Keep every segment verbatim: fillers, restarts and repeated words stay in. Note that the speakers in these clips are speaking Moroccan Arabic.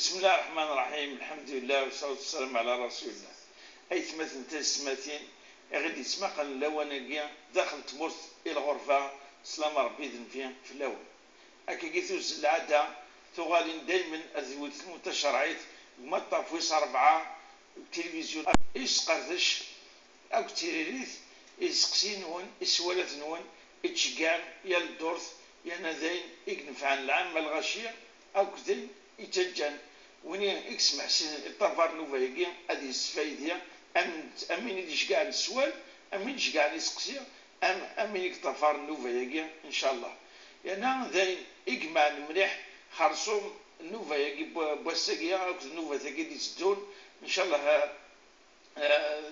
بسم الله الرحمن الرحيم، الحمد لله والصلاة والسلام على رسول الله. أيثمثن تسماتين غادي يسمع اللواناكيا داخل تمرت الى الغرفة سلام ربي ذن في الاول. هكا كيثوز العادة تغالين دايما أذوت المتشرعيت وما طافويس أربعة التلفزيون إسقردش أو تيريريث إسقسينون إسوالتنون إتشقام يا الدورث يا نذين إكنفعن العام الغشية أو كذين إتجان وني إكس محسن الطفار نوفايكي أدي السفايدية أم أمين يديش كاع السوال أمين يديش كاع يسقسي أم أمين يكتفار نوفايكي إن شاء الله. يعني ذين إجمع المليح خرصوم النوفايكي بوساكيا أو النوفا ثاكي دي تدون إن شاء الله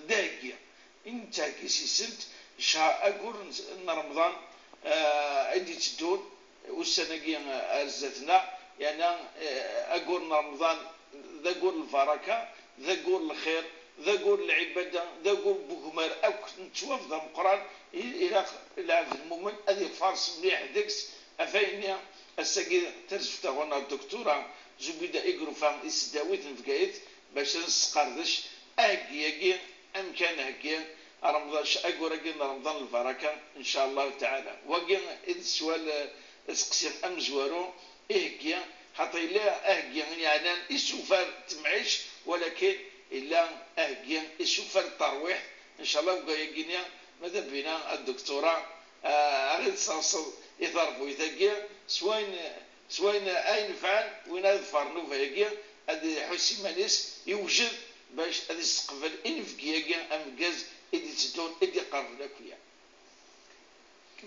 داكيا إن تاكي سيسنت شهر أقول إن رمضان أدي تدون والسنة كي أرزتنا يعني أقول رمضان ذا قول البركة ذا قول الخير ذا قول العبادة ذا قول بوكمار أو نتوف ذا القرآن إلى العبد المؤمن هذه فارس مليح ديكس أفاينيا الساقي ترزفتا غنا الدكتورة زبيدة إقروفا إسداويت نفقايت باش نسقردش أهكي أكي أمكان هكي رمضان أقول أكي رمضان البركة إن شاء الله تعالى. وكي السؤال اسقسي أم زوارو إهكي خاطر إلا أهكي يعني إسوفر تمعيش ولكن إلا أهكي إسوفر الترويح إن شاء الله. وكايا ماذا بينا الدكتورة أغيد تصل يضربوا يتاكي سواين سواين أين فعل وين أظفر نوفا ياكي هادي حسي ماليس يوجد باش هادي يستقبل إنفكياكي أمكاز إدي تدون إدي قرب لك.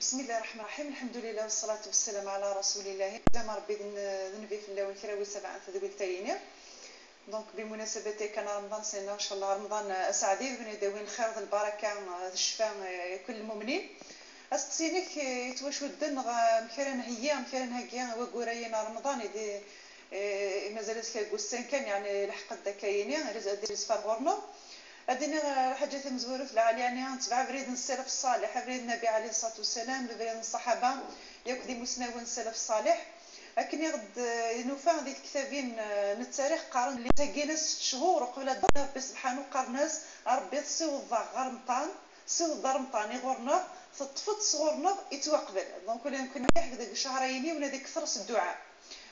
بسم الله الرحمن الرحيم، الحمد لله والصلاة والسلام على رسول الله. زعما ربي ذنبي في الله والكراوي سبعة تذويل تايني. donc بمناسبة كان رمضان سنة ان شاء الله رمضان سعدي بن يداوين الخير البركة الشفاء كل المؤمنين. أسقسينك يتوشودن مكران هي مكران هكيا وكوراينا رمضان يدي مازال كاكوسان كان يعني لحق داكايني دير سفر غورنا أديني حاجة مزورة في العالي يعني نتبع بريد السلف الصالح بريد النبي عليه الصلاة والسلام بريد الصحابة ياك دي مسناون السلف الصالح. لكن غد نوفا ديك الكتابين التاريخ قارن اللي تاكينا ست شهور قبل ربي سبحانه قرناس ربي تصيوض غرمطان صيوض رمطان يغورنا تطفت صغورنا يتوقبل. donc ولا يمكن ديك شهرين ولا ديك كثر الدعاء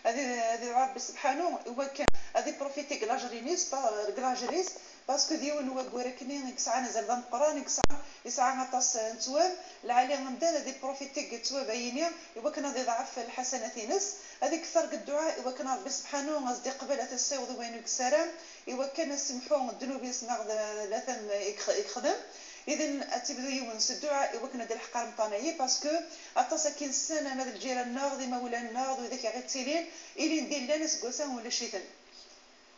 هذه هذه ربي سبحانه هو كان هذه profiter كلاجرينيس كلاجريس parce que ديون هو كوراكني كسعى نزل ذا القران كسعى يسعى غطاس نتواب العالي غمدان هذه profiter تواب عيني هو كان هذه ضعف الحسنات نس هذه كثر الدعاء هو كان ربي سبحانه غادي قبل تسيوض وين كسرام هو كان سمحوا الذنوب يسمع لا ثم يخدم. اذا تبدو يونس الدعاء ايوا كنا دير الحق رمضانيه parce que اطاسا كاين السنة ماذا الجيران ناغ ما ولا ناغ وذاك غير تيلين الي ندير لا ناس كوسان ولا شيتن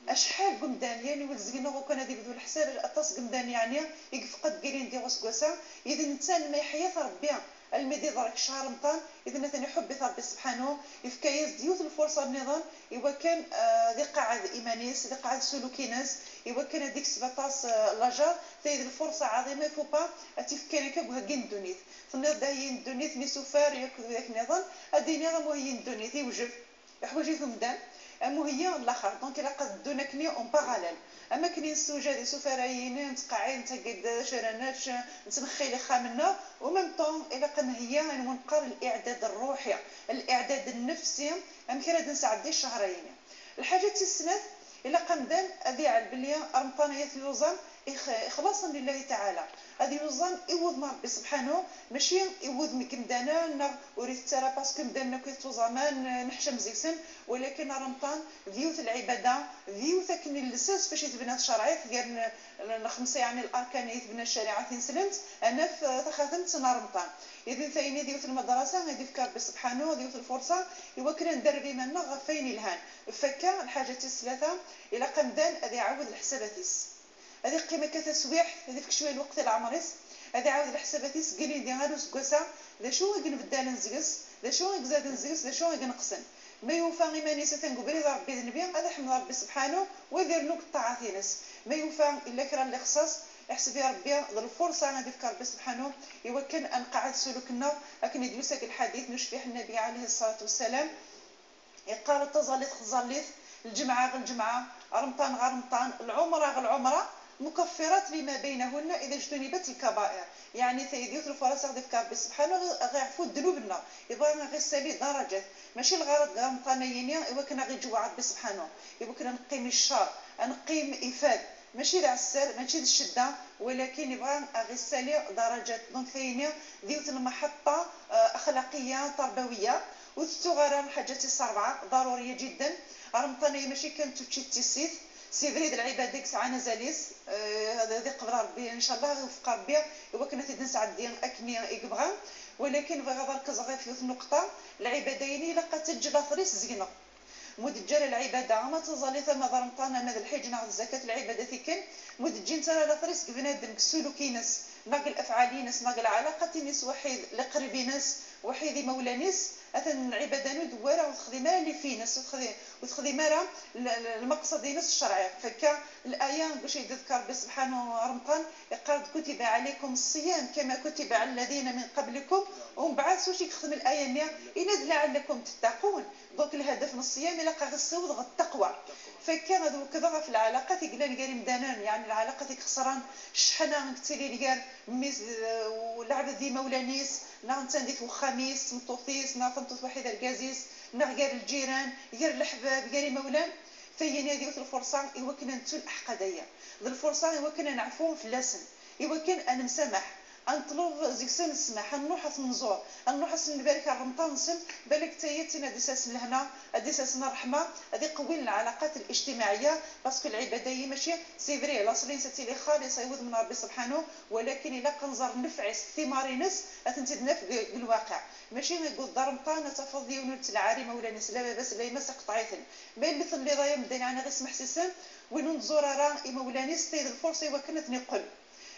اشحال قمدان يعني ولزقنا وكان هذه بدو الحساب اطاس قمدان يعني يفقد كاين ديال غوسكوسا. اذا انسان ما يحيا ربي المدي ضرك شهر رمضان اذا ثاني حب ربي سبحانه يفكايز ديوت الفرصة النظام ايوا كان ذي قاعد ايمانيس ذي قاعد سلوكيناس ايوا كان هذيك سبعطاش لاجار تايد الفرصة عظيمة faut pas تفكري كوهكين الدنيت تنض داين الدنيت مي سوفار ياك ذاك النظام اديني غا مهين الدنيت يوجد حوايج مدان امو هي الاخر. donc الا قدونا كني en parallèle اما كني السوجه سفرايين نتقاعين تقد شرانات نتنخي خامنا و même temps الا قن هي نقر الاعداد الروحي الاعداد النفسي ام كي نسعدي الشهرين. الحاجة السنة الا قمدان هذه على بلي رمضان هي يوزن اخلاصا لله تعالى هذه يوزن يوض مع ربي سبحانه ماشي يوض مكمدانا وريت ترى parce que مدانا كيتوزمان نحشم زيسن ولكن رمضان ديوت العبادة ديوت كني الاساس فاش يتبنى الشرعي ديال الخمسة يعني الاركان يتبنى الشريعة تنسلمت انا تخاتمت نهار رمضان. اذا ثاني ديوت المدرسة غادي يفكر ربي سبحانه ديوت الفرصة ايوا كنا ندربي منا غفين الهان فكا الحاجة الثلاثة الى قمدان هذه يعاود الحساباتيس هذه قيمة كتسويح هذه فيك شوية الوقت العمريس هذه عاود الحساباتيس قالي دي غادو سكوسا ذا شو غنبدل نزقس ذا شو غزاد نزقس ذا شو غنقسم ما يوفى غيماني ستنقبل ربي ذنبي هذا حمد ربي سبحانه ويدير نوك الطاعة ما يوفى الا كرا اللي خصاص احسب يا ربي الفرصة غادي يفكر ربي سبحانه ايوا كان انقعد سلوكنا لكن يدوسك الحديث نشبه النبي عليه الصلاة والسلام يقال تزاليت خزاليت الجمعة غير الجمعة، رمضان غير رمضان، العمرة غير العمرة، مكفرات لما بينهن اذا اجتنبت الكبائر. يعني ثيديوت الفرص غادي في ربي سبحانه غيعفو ذنوبنا، يبغى غير سالي درجات، ماشي الغرض رمضانيين ايوا كنا غير جوع ربي سبحانه، ايوا كنا نقيم الشر، نقيم افاد، ماشي العسر ماشي الشدة، ولكن يبغى غير سالي درجات. donc ثانية ديوت المحطة اخلاقية تربوية. وتتغرى حاجات السرعة ضرورية جدا. رمضانيه ماشي كانت تمشي تسيف c'est vrai العبادة ساعة نزاليس هذا آه قبل ربي ان شاء الله يوفق ربي هو كنا تيدنا سعدين اكني يبغى، ولكن بغا نركز غير في النقطة العبادين الا قد لاثريس زينة مدجر العبادة ما تظلي ثم رمضان ما الحج ناخذ الزكاة العبادة كان مدجين ترى لاثريس بنادم السلوكينس ناقل افعالينس ناقل علاقة نس وحيد لقريبينس وحيد مولانيس اثن العبادة ندواره وتخدم اللي فينس وتخدم راه المقصد نس الشرعي. فكا الايه باش يذكر ربي سبحانه رمضان يقال كتب عليكم الصيام كما كتب على الذين من قبلكم، ومن بعد واش يخدم الايه نيا ان لعلكم تتقون. donc الهدف من الصيام الا قا غير التقوى. فكان هذو كذا في العلاقات يقلان كاري مدانان، يعني العلاقات خسران شحنه كتيري كار ميز ولعب ذي مولانيس نا نتنديت وخميس مطوطيس نا تنطوط وحيد الكازيس نا غير الجيران غير الحباب غير مولان. فهي هذه الفرصة ايوا كنا نتو الاحقاديه ذي الفرصة ايوا كنا نعفو في اللسن ايوا كان انا مسامح نطلب زيكسن السماح نروح نزور نروح نبارك رمضان نسم بالك تايتنا ديساس لهنا ديساس الرحمة هذه قوي العلاقات الاجتماعية. parce que العبادة ماشي c'est vrai لاصلين ستي لي خالص يود من ربي سبحانه، ولكن الا قنزر نفعس ثمارينس اتنتدنا في الواقع. ماشي نقول دار رمضان تفضي ونلت العارمه ولا نس لا باس لا يمس قطعيتن ما اللي اللي ضايا مدين يعني غير سمح سيسن وين نزور راه مولانيس تيد الفرصة ايوا كنا نقل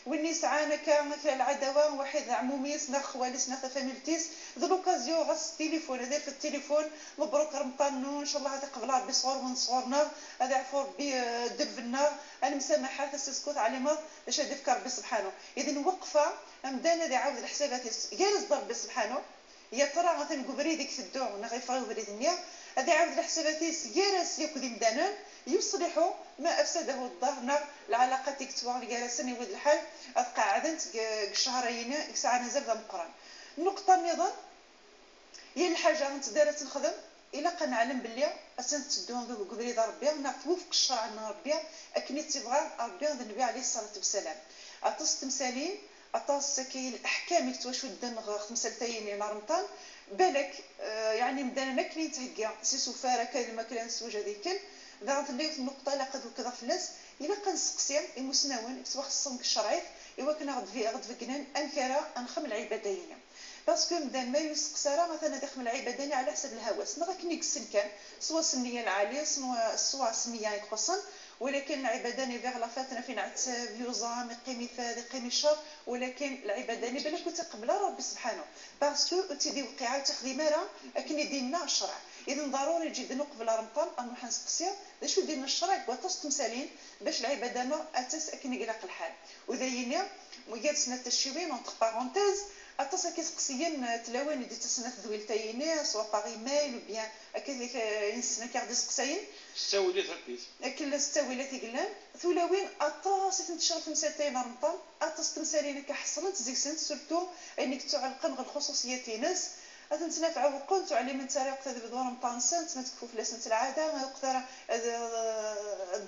والني سعانا كان العداوة واحد عموميس نا خواليس نا فاميلتيس ذو l'occasion غاس التليفون هذا في التليفون مبروك رمضان ان شاء الله هذا قبل ربي صغور من صغورنا هذا عفو ربي دبنا انا مسامحة تسكت على ما باش هذا فكر ربي سبحانه. اذا وقفه مدانا هذا عاود الحسابات جالس ربي سبحانه يا ترى مثلا قبري ديك الدو ولا غيفرغ بريد النية هذا عاود الحسابات جالس ياكل مدانا يصلح ما افسده الظهر العلاقات تكتوار جالسين يود الحال قاعدنت الشهرين ساعة نزل مقران. النقطة النظام هي الحاجة انت دارت نخدم الا قنعلم باللي اسن تدون قبريد ربي نعرف وفق الشرع من ربي اكني تبغى ربي النبي عليه الصلاة والسلام اطس تمثالين اطاس كاين الاحكام يتوشدن خمسة رمضان بالك يعني مدانا ما كاين تهكا سي سفارة كاين الماكلة نسوج هذيك دارت لي في النقطة لا قد وكذا فلاس الا قنسقسي المسناون سوا خصهم الشرعي ايوا كنا غد في غد فكنان انكرا انخم العبادين parce que مدان ما يسقسى راه مثلا داخل العبادين على حسب الهوس ما كنيك السن كان سوا سنية العالية سوا سوا سنية يخصن، ولكن العباداني فيغ لا فاتنا فين عتاب يوزام يقيم فاد يقيم الشر، ولكن العباداني بالك تقبل ربي سبحانه parce que تيدي وقعه وتخدم راه اكن ديننا الشرع. اذا ضروري جدا قبل رمضان ان نسقسي باش دينا الشرع وطاس تمثالين باش العبادة اتاس اكن يقلق الحال وذايني ويا سنة الشيوين entre parenthèses اتصل كيسقسيين تلاوين دي تسنة ذويلتايني soit par email ou bien كذلك ينسنا كي غادي سقساين ستاولات هكيت كل ستاولات يقلان ثلاوين اطاس تنتشر في مساتين رمضان اطاس تمثالين كحصلت زيك سنت surtout انك تعلقن غير الخصوصية تينس اتنتنافع وقلت علي من طريق تبدو رمضان سنت ما تكفو في سنة العادة ما يقدر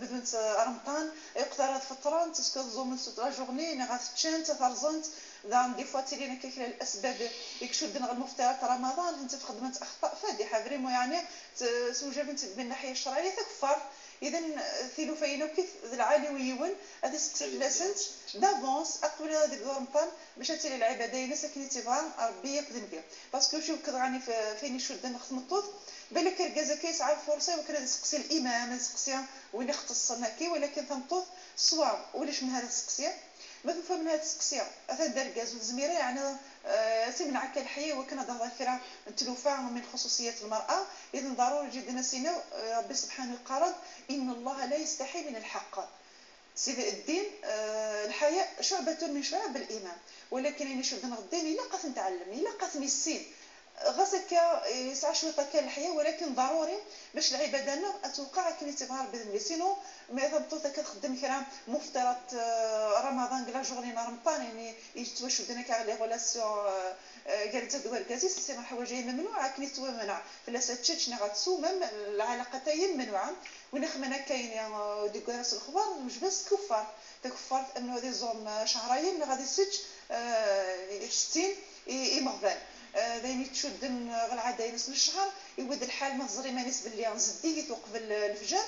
بدون رمضان يقدر فترة تسكت من la journée غاتشان تفرزنت dans des fois تيلينا كيكلا الاسباب يكشدن غير المفطرات رمضان انت في خدمة اخطاء فادحة vraiment يعني سوجا من الناحية الشرعية تكفر. اذا ثيلوفينا كيف العالي ويون هذه سقسي لاسنت d'avance قبل هذا رمضان باش تالي العبادة ساكنين تيبغى ربي يقدم بها parce que شو كضراني فين يشد نخدم بالك ركازا كيسعى الفرصة وكان يسقسي الامام يسقسي وين يختص كي، ولكن تنطوط سوا ولاش من هذا السقسيه ما تفهم من هذا السقسيه اثا دار كاز وزميره يعني آه تمنع الحياة وكان هذا ذكرى تلوفا من خصوصيات المراة. اذا ضروري جدا سينا ربي سبحانه قرض ان الله لا يستحي من الحق. سيدي الدين آه الحياة شعبه من شعب الايمان، ولكن يعني شد الدين الا قات نتعلم الا قات السين غاسك يسعى شوية كان الحياة، ولكن ضروري باش العبادة اتوقع كي تبغى ربي sinon ما ثبتو كتخدم كرا مفطرات رمضان la journée رمضان يعني يتوشو دنا كاع les relations قال تدوار كازيس c'est حوايج ممنوعة كني منع فلا تشتش غاتسو même العلاقتين ممنوعة. وين خمنا كاين ديك راس الخبر مش بس كفار تكفار انه هذه زوم شهرين غادي سج ستين يمغفال دايني تشدن غالعاده ينس الشهر يود الحال ما تزري مانيس باللي نزديت وقبل الفجر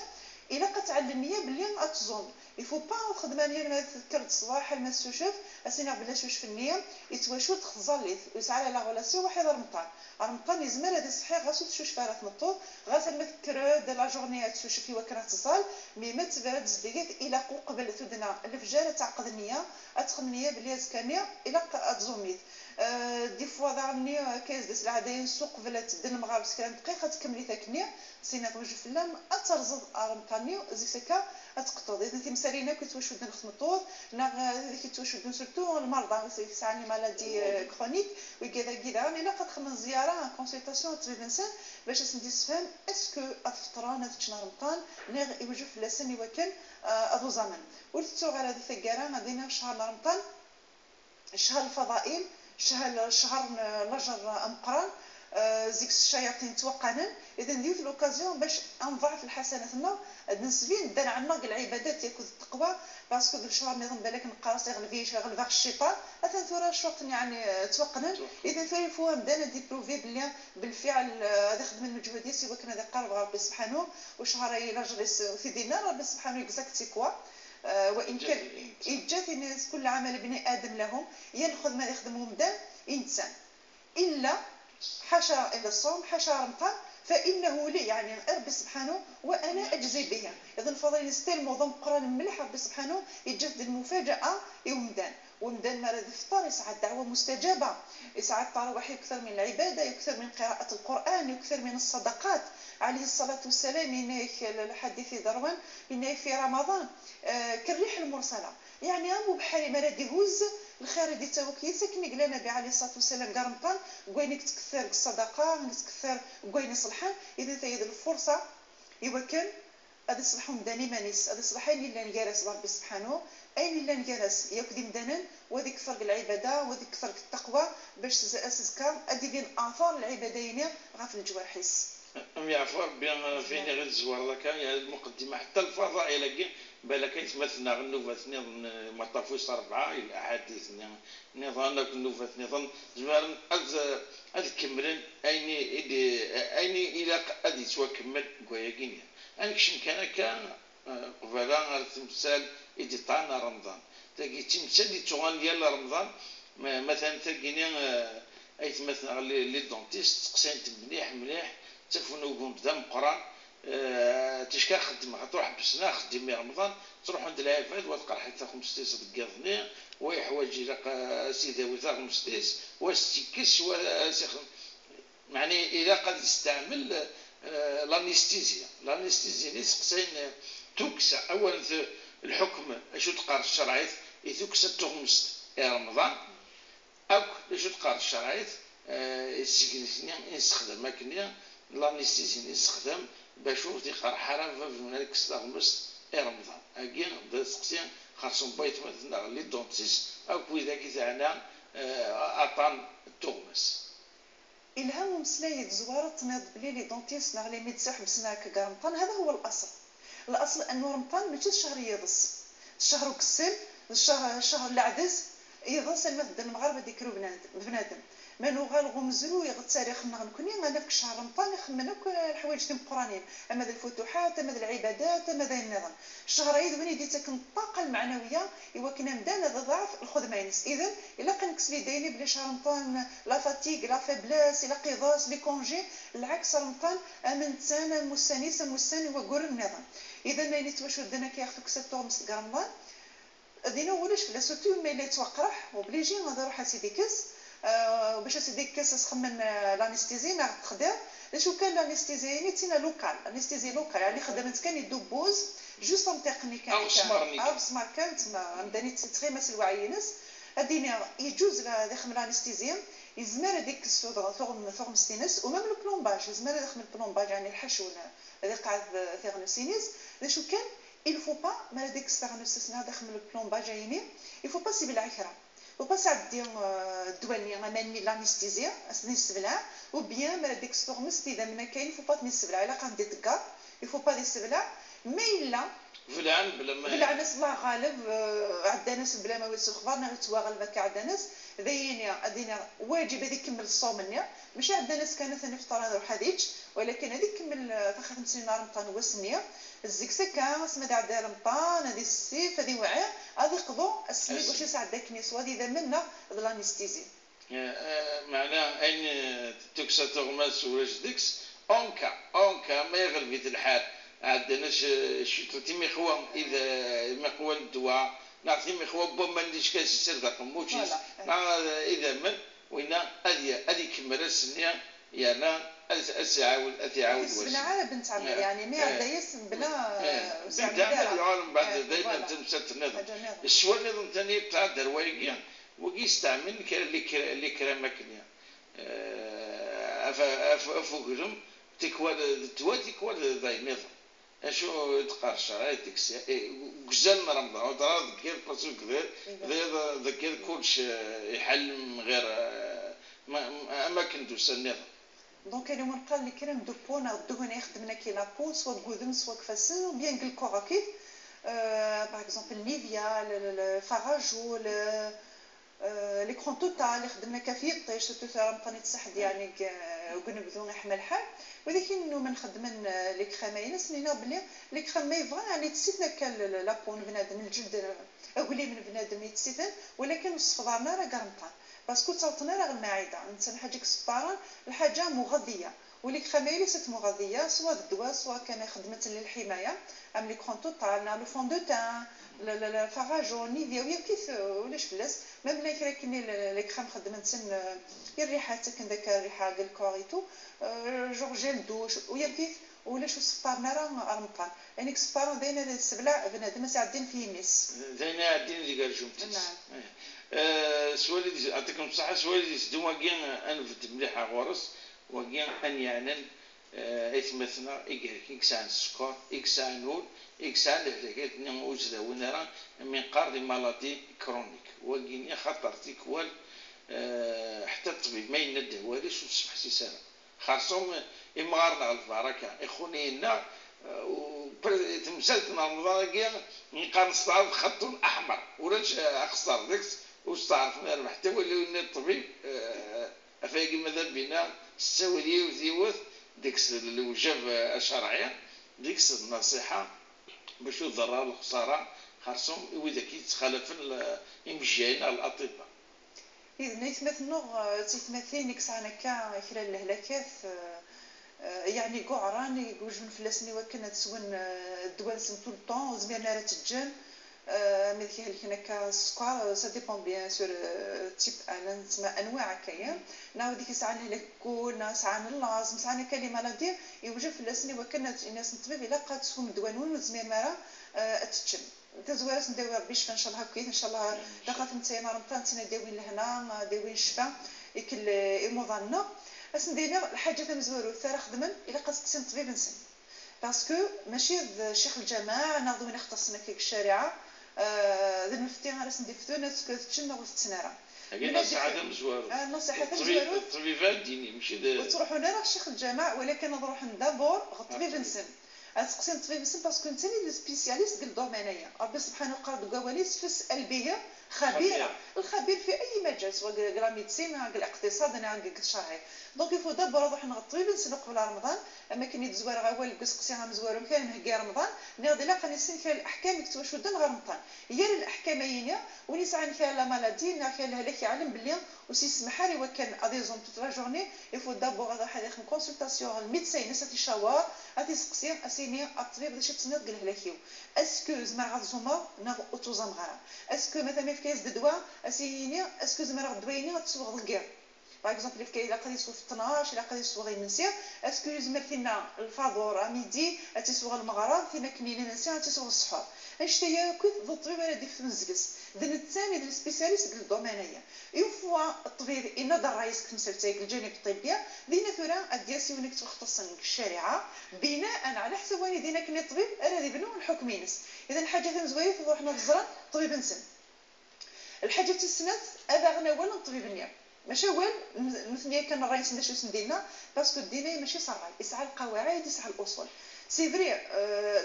الا قتعلم النية باللي اتزوم il faut pas خدمة نية ما تذكر الصباح ما تشوف اسينا بلا شوش في النية يتواشو تخزاليت ويسعى la relation واحد رمضان رمضان يزمر هذا الصحيح غاسو تشوش فارات نطو غاس ما تذكر de la journée تشوش في وكرة تصال mais ما تبرد زديت الى قبل تدنا الفجر تعقد النية اتخم النية بلي زكانيه الى اتزوميت des fois ضارني كايز ديس العادين السوق فلا تدن المغارب سكران دقيقة تكملي ثاكنيه سينا توجه فلام اترزض ارمطاني زيك اتقطو اذا تمسالينا كيتوشو دن خمطوط نا كيتوشو دن surtout المرضى سعني maladies chroniques وكذا كذا الا قد خمن زيارة consultation طبيب انسان باش سندي تفهم est-ce que افطران تشنا رمضان نغ يوجه فلاسن وكان اذو زمن ولتو على هذه الثقاره غادينا في شهر رمضان شهر الفضائل شهر شهر نجر امقران زيك الشياطين توقعنا. اذا ديوت l'occasion باش نضاعف الحسنات نسبين دار عنا العبادات ياكل التقوى parce que الشهر نظام بالك نقرا يغلفيش يغلف الشيطان اثن ثورة شوط يعني توقنا. اذا ثوري فوا بدانا دي prouver بلي بالفعل هذا خدم المجهود سيوا كان هذا قرب ربي سبحانه وشهر الى في دينا ربي سبحانه exact quoi وان كان إجات الناس كل عمل ابن ادم لهم ينخذ ما يخدمه مدام انسان الا حاشا الى الصوم حاشا رمضان فانه لي يعني ربي سبحانه وانا اجزي به. اذا الفضيل ستيل موضوع القران مليح ربي سبحانه يجد المفاجاة يومدان ومدان مرض الفطار يسعى الدعوة مستجابة يسعى التراويح يكثر من العبادة يكثر من قراءة القران يكثر من الصدقات عليه الصلاة والسلام. إنك الحديث دروان إنك في رمضان آه كالريح المرسلة يعني امو بحالي مرض يهز الخير دي توكيسك كما قال النبي عليه الصلاة والسلام قرمطان كوينك تكثر الصدقة تكثر كوين صلحان. اذا تايد الفرصة يوكل هذا يصلحوا مداني مانيس هذا يصلح اللي نجالس ربي سبحانه اي اللي نجالس ياك دي مدانا وهذيك فرق العبادة وهذيك فرق التقوى باش اسسكا ادي بين اثار العبادين غا في الجوارحيس ام يعفو ربي فين غير الزوار ذاك المقدمة حتى الفضائل بالك يتمثلنا غنوفات نظن ما طافوش أربعة الأحاديث نظام نوفات نظام زمان أز كملن أيني أيني إلى أدي سوا كمل كوايا أنكشم كان كان قبلا تمثال إدي طعنا رمضان تاقي تمثال دي تغان ديال رمضان مثلا تاقيني أي تمثل les dentistes تقسين مليح مليح تفونو بدا مقران تشكا خدمة تروح بسنا خدمي رمضان تروح عند العفاد وتقرا حتى خمسطاش دقيقة ويحوج الى سيدي وتا خمسطاش واش يعني الى قد يستعمل l'anesthésie l'anesthésie اللي سقسين توكسا اولا الحكم اشو تقار الشرعيت يتوكسا تغمست رمضان اك اشو تقار الشرعيت السكنسني يستخدم كنيا l'anesthésie يستخدم باش تيقرا حرام في هناك استغمست رمضان اكي سقسي خاصهم بيت مثلا les dentistes او كويدا كي تاعنا اطان التغمس الهام مسلاي زوارة تناض بلي les dentistes ناغ les médecins حبسنا هكا رمضان. هذا هو الاصل الاصل انه رمضان ماشي الشهر يضس الشهر كسل الشهر الشهر العدز يضس المثل المغاربة ديكرو بنادم ما نوغال غمزلو يغ التاريخ نكوني انا في شهر رمضان يخمن الحوايج تيم قرانين اما الفتوحات اما العبادات اما ذا النظام الشهر عيد وين يدي تكن الطاقة المعنوية ايوا كنا مدان هذا ضعف الخدمة ينس. اذا الا كنكسبي دايني بلي شهر رمضان la fatigue la faiblesse الى قضاس les congés العكس رمضان امن تانا مستانيس مستاني وكور النظام. اذا ما يتوشو دنا كياخذ كساتو مس رمضان دينا ولاش لا surtout ما الا يتوقرح obligé غادي نروح اسيدي كاس أه باش اسيدي كاس خمن l'anesthésie ناغ تخدم شو كان l'anesthésie يعني تينا locale anesthésie locale يعني خدمت كان يدوبوز juste تقني كان او سمار او سمار كانت ما مداني تغيمس الوعينس هادينا يجوز لا يخدم l'anesthésie يزمر هذيك السود ثغم ستينس و même le plombage يزمر يخدم ال plombage يعني الحشو هذا قاعد ثغنوسينيس. شو كان il faut pas ما هذيك الثغنوسيس داخل ال plombage يعني il faut pas سيب العكره و pas عدي الدواني غاماني l'anesthésie اسني السبلع ou bien ما ديك الثغمس اذا ما كاين faut pas تني الا قام دي تكا il faut pas السبلع mais الا فلان بلا ما بلا ناس الله غالب عندنا ناس بلا ما ويسو الخبر نغ تواغل ما عندنا ناس ذيني ادينا واجب هذيك كمل الصوم نيا ماشي عندنا ناس كانت ثاني فطر روح هذيك ولكن هذيك كمل تاخذ خمسين رمضان وسنيه الزكسكا سما عندها رمضان هذه السيف هذه وعي هذه قضو السميك واش يساعد داك نيس وهذه اذا منا l'anesthésie معناه ان تكسا تغمس ولاش ديكس en cas en cas ما يغلبيت الحال عندنا شي تيمي خوا اذا ما قوى الدواء نعطي مخوا بو ما نديش كاس يصير ذاك موشيس اذا من وين هذه هذه كمل السنية يعني اسعاود اسعاود بلا على بنت عمي يعني ما عندها بلا بنت عمل العالم بعد دائما تمسات النظام السؤال النظام الثاني تاع دروايقيا وكي يستعمل اللي كرامكنيا افوكرم تكوال الدواء تكوال ذاي نظام اشو تقرش ديك كزال رمضان ودرا ذكر parce que كذا ذكر كلش يحل من غير اماكن دوس النظام. donc اليوم نقال les crèmes de peau الدهون يخدمنا كي la peau soit قودم soit كفاسن ou bien الكورا كيف par exemple نيفيا الفراجول l'écran total اللي خدمنا كافي طيش surtout رمضان يتسحد يعني وكنبدو نحمل الحال ولكن انه ما نخدم les crèmes سنينا بلي les crèmes ما يبغى يعني تسيتنا كان la peau بنادم الجلد اولي من بنادم يتسيتن ولكن الصفضارنا راه كرمطان parce que توطنا راه المعدة انت حاجة كسباران الحاجة مغذيه و les crèmes ليست مغذيه سواء الدواء سواء كان خدمة للحماية ام l'écran total le fond de teint الفراجو نيفيا ويا كيف ولاش فلاس même لا كاين les crèmes خدمت الريحة تكن داك الريحة الكوريتو genre gel douche ويا كيف ولاش السفارنا راه رمطان يعني السفار داينا السبلع بنادم ساعدين في يمس داينا عدين ديك الجمتيس. نعم سوالي يعطيكم الصحة سوالي دوا كاع انفد مليحة غورس وكاع ان يعنن ايتمثنا إكسان السكر إكسان نول إكسان الهلاكات وجدة ونرى من قار des maladies chroniques وكيني خطر تيكوال حتى الطبيب ما ينده واليش وتصبح سيسارة خاصهم إمغارنا على البركة إخونينا تمثلت رمضان كيا نقار نستعرض خط أحمر ولاش أخسر ديكس وستعرف حتى ولي الطبيب أفاقي ماذا بينا السوالية وزيوث ديك الوجب الشرعية ديك النصيحة باش الضرر الخسارة خاصهم واذا كيتخالف يمشينا الاطباء. اذا نيتمثلوا تيتمثلين كسعنا كا كلا الهلاكات يعني قعران يوجد فلاسني وكنا تسون الدواء نسم tout le temps زميرنا راه تجن ملي كيهلكنا كالسكر ça dépend bien sûr type انا تسمى انواع كاين ناو ديك الساعة نهلك كون ساعة اللازم ساعة كلمة maladies يوجد فلاسني وكنا الناس الطبيب الا قاد تسوم الدواء وزمير مارا تتشم تزوارس نداوي ربي شفا ان شاء الله كويس ان شاء الله دقات نتايا رمضان تنا داوين لهنا داوين الشفا يكل إموضنا بس ندينا الحاجة تمزورو ثرا خدمن الا قص الطبيب نسن parce que ماشي شيخ الجماعة ناخذ من اختصنا كيك الشارعه ذا المفتي غاس نديفتو ناس كتشنا وتسنارا النصيحة تمزوارو النصيحة تمزوارو الطبيب الديني ماشي وتروحوا راه شيخ الجامع ولكن نروح d'abord الطبيب نسن تسقسي الطبيب نسن parce que انت اللي spécialiste ديال ال domaine ربي سبحانه قال دواليس فاسال به خبيرة الخبير في اي مجال سواء la médecine الاقتصاد انا الشرعي donc il faut d'abord نروح نغ الطبيب نسن قبل رمضان اما كاين يتزوار غاوال قسقسي مزوار كان هكا رمضان نغدي لا قاني فيها الاحكام يكتوشدن غير رمضان هي الاحكام هي وني ساعة فيها la maladie نا فيها الهلاك يعلم بلي وسي سمحاري وكان اديزون toute la journée il faut d'abord هذا حد يخدم consultation ال médecin ناس تيشاور غادي اسيني الطبيب باش تسند قال هلاكيو est-ce que زعما غتزوما نا اوتوزام غرا est-ce que مثلا في كاس دواء اسيني est-ce que زعما الدوايني غتسوغ الكير par exemple كاين الا قد يسوى في اثناش، الا قد يسوى غير منسي، est-ce que يزمر فينا الفاضور midi تيسوى المغرب فينا كنينه نسي تيسوى السحور. اشتيا كنت الطبيب راه ديك تمزكس دن الثاني ديال spécialiste ديال ال domaine هي une fois الطبيب ينظر رايس كمسلتاك الجانب الطبي دينا ثورا ادياسي ونك تختص الشريعة بناء على حسب وين دينا كني الطبيب راه يبنو الحكم ينس. اذا حاجة تنزوي روحنا الزران طبيب نسن. الحاجة تسنات هذا غنا ولا الطبيب النيا ماشي هو مثنيا كان الرئيس باش ديالنا parce que الدينية ماشي صراي يسعى القواعد يسعى الاصول. c'est vrai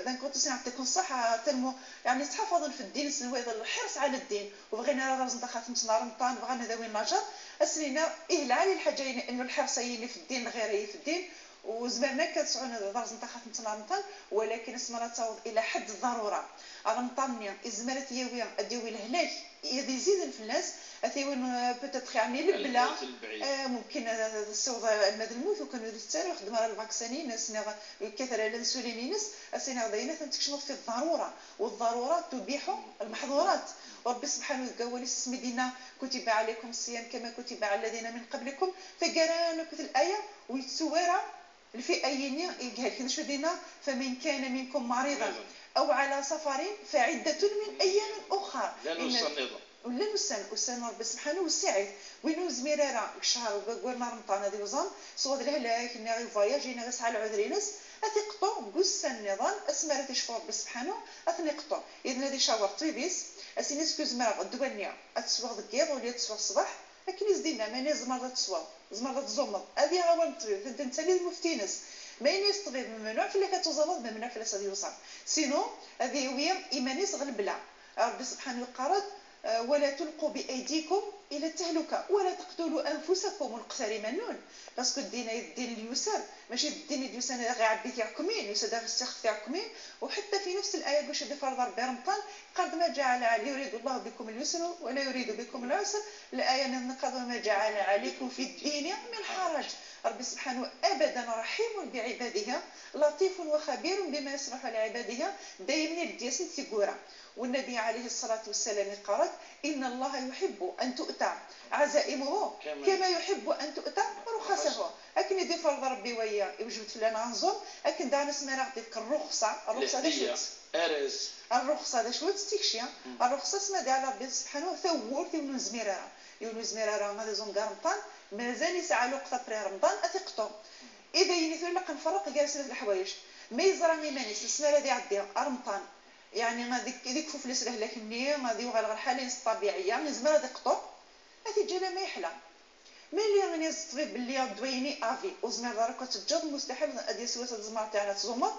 d'un côté نعطيكم الصحة تنمو يعني تحفظوا في الدين الحرص على الدين وبغينا راه رزق خاتم رمضان بغينا ذوي النجار السنين إيه العالي الحاجة انه الحرص في الدين غير في الدين وزمرنا كتسعون درز نتا خاتم رمضان ولكن اسمها تعوض الى حد الضرورة. رمضان ازمرت يويا اديوي لهناك يزيد في الناس اثيوين peut-être يعني البلا آه ممكن الصوض المد الموت وكانوا يستاروا خدمة على ال vaccin سنة كثر الانسولين نس السنة داينا تنتكشف في الضرورة والضرورات تبيح المحظورات. وربي سبحانه وتعالى سميدينا كتب عليكم الصيام كما كتب على الذين من قبلكم فقرانا كتب الايه ويتسوارا الفئة يني يقال كنا شو دينا فمن كان منكم مريضا او على سفر فعده من ايام اخرى. لا نوصل ولا نسان وسان ربي سبحانه وسعيد وينو زميرارا الشهر وقولنا رمضان هذه وزن سوا الهلاك ني غي فواياج ني غي سعى العذرينس اثيقطو كوسان النظام اسمارا تيشفو ربي سبحانه اثنيقطو. اذا هذه شاور طيبيس اسينيس كو زمرا الدوانيه اتسوى دكيض ولا تسوى الصباح لكن يزدينا ماني زمرة تسوى زمرة تزمط هذه غاوان الطبيب انت انت اللي المفتينس ما ينيس الطبيب ممنوع في اللي كتزمط ممنوع في اللي يوصل sinon هذه هي ايمانيس غلبلا ربي سبحانه قرض ولا تلقوا بايديكم الى التهلكة ولا تقتلوا انفسكم ونقتل منون parce que الدين الدين اليسر ماشي الدين اليسر غير عبي تاعكمين يسر غير السخ تاعكمين. وحتى في نفس الايه باش فرض ربي رمضان قد ما جعل علي يريد الله بكم اليسر ولا يريد بكم العسر. الايه نقض ما جعل عليكم في الدين من حرج. ربي سبحانه ابدا رحيم بعباده لطيف وخبير بما يصلح لعباده دايما الدياسن تيقورا. والنبي عليه الصلاة والسلام قال إن الله يحب أن تؤتى عزائمه كما يحب أن تؤتى رخصه. أكن يدي فرض ربي ويا يوجد فلان غنزوم أكن دعنا سمعنا غديك الرخصة الرخصة دا شوت الرخصة دا شوت تيكشي الرخصة سما دي على ربي سبحانه ثور تيونو زميرارا يونو زميرارا غادي زوم رمضان مازال يسعى الوقت après رمضان أثقطو. إذا يني ثور نفرق جالسين الحوايج ما يزرع مانيس السنة هذه عدي رمضان يعني غادي ديك فلوس لهلاك غادي يوغال غير الحالة الطبيعية زعما غادي يقطو هذه الجاله ما يحلى ملي غني الطبيب باللي دويني افي وزمر دارك كتجد مستحيل غادي سوى الزمر تاعنا تزمر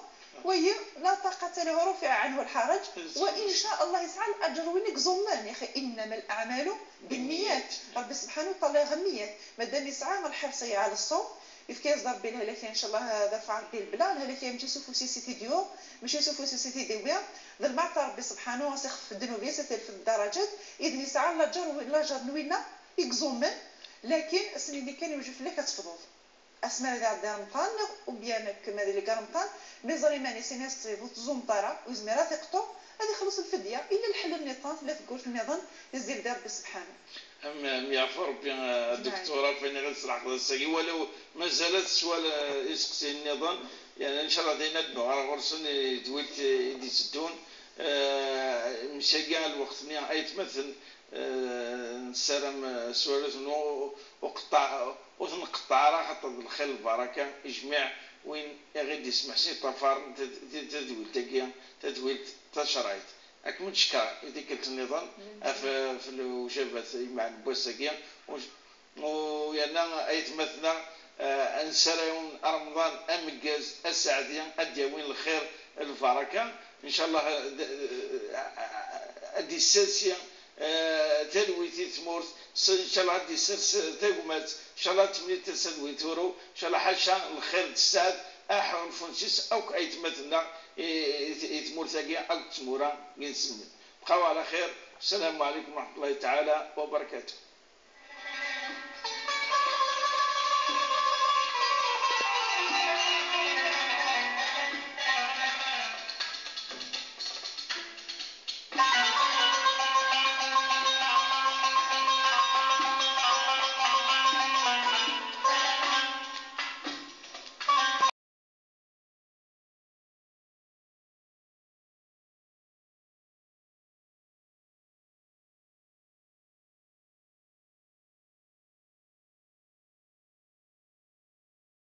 وهي لا طاقة له رفع عنه الحرج وان شاء الله يسعى الاجر وينك زمان يا اخي انما الاعمال بالنيات. ربي سبحانه وتعالى غنيات مادام يسعى الحرص على الصوم يفكي ربي الهلاك ان شاء الله هذا رفع ربي البلا الهلاك ماشي سوفو سيسيتي ديو ماشي سوفو سيسيتي ديويا ذا المعطى ربي سبحانه سيخف الذنوب في الدرجات اذن يسعى لا جر لا جر نوينا يكزومن لكن السنين اللي كان يوجد لك كتفضل اسماء اللي عندها رمضان وبيان كما اللي رمضان مي زريماني سيناس تيبوت زومطاره وزميرا ثقطو هذه خلص الفدية الا الحل النظام لا تقول النظام يزيد ربي سبحانه. أم يعفو ربي الدكتورة فين غير صراحة الساقي ولو ما زالت سؤال يسقسي النظام يعني ان شاء الله دينا على غرسن دويت يدي تدون مشى كاع الوقت مي اي تمثل نسلم سوالات وقطع وتنقطع راه خاطر الخير البركة يجمع وين غير يسمح سي طفار تدويل تاكيا تدويل تشرايط اكمل شكا ديك النظام في في الوجبات مع البوساكيا ويانا ايتمثنا انسرايون رمضان امكاز السعديه اديوين الخير البركة ان شاء الله ادي السلسيه تلويتي تمورت ان شاء الله ادي سلس تاكمات ان شاء الله تمني تسد ويتورو ان شاء الله حاشا الخير السعد احون فونسيس او ايتمثلنا يتمورتاكي او تمورا ينسمن. بقاو على خير. السلام عليكم ورحمة الله تعالى وبركاته.